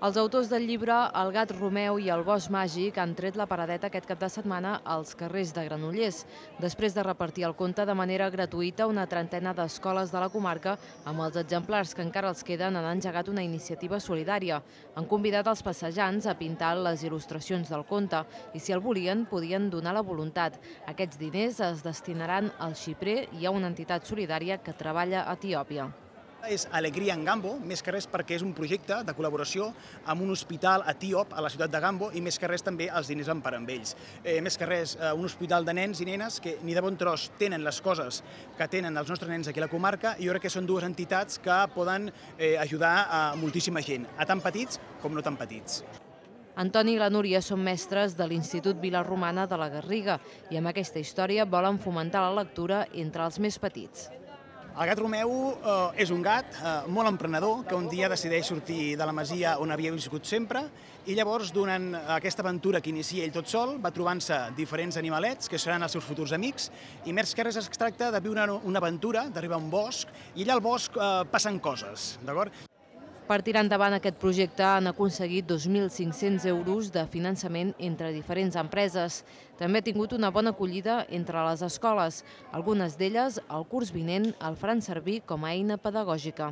Els autors del llibre El gat Romeu i el bosc màgic han tret la paradeta aquest cap de setmana als carrers de Granollers, després de repartir el conte de manera gratuïta a una trentena d'escoles de la comarca. Amb els exemplars que encara els queden, han engegat una iniciativa solidària. Han convidat els passejants a pintar les il·lustracions del conte i, si el volien, podien donar la voluntat. Aquests diners es destinaran al xiprer i a una entitat solidària que treballa a Etiòpia. És Alegria en Gambo, més que res perquè és un projecte de col·laboració amb un hospital etíop a la ciutat de Gambo i més que res també els diners van per amb ells. Més que res, un hospital de nens i nenes que ni de bon tros tenen les coses que tenen els nostres nens aquí a la comarca, i jo crec que són dues entitats que poden ajudar a moltíssima gent, a tan petits com no tan petits. Antoni i la Núria són mestres de l'Institut Vila-romana de la Garriga i amb aquesta història volen fomentar la lectura entre els més petits. El gat Romeu és un gat molt emprenedor que un dia decideix sortir de la masia on havia viscut sempre i llavors, durant aquesta aventura que inicia ell tot sol, va trobant-se diferents animalets que seran els seus futurs amics, i més que res es tracta de viure una aventura, d'arribar a un bosc, i allà al bosc passen coses, d'acord? Per tirar endavant aquest projecte han aconseguit 2.500 euros de finançament entre diferents empreses. També ha tingut una bona acollida entre les escoles. Algunes d'elles, el curs vinent, el faran servir com a eina pedagògica.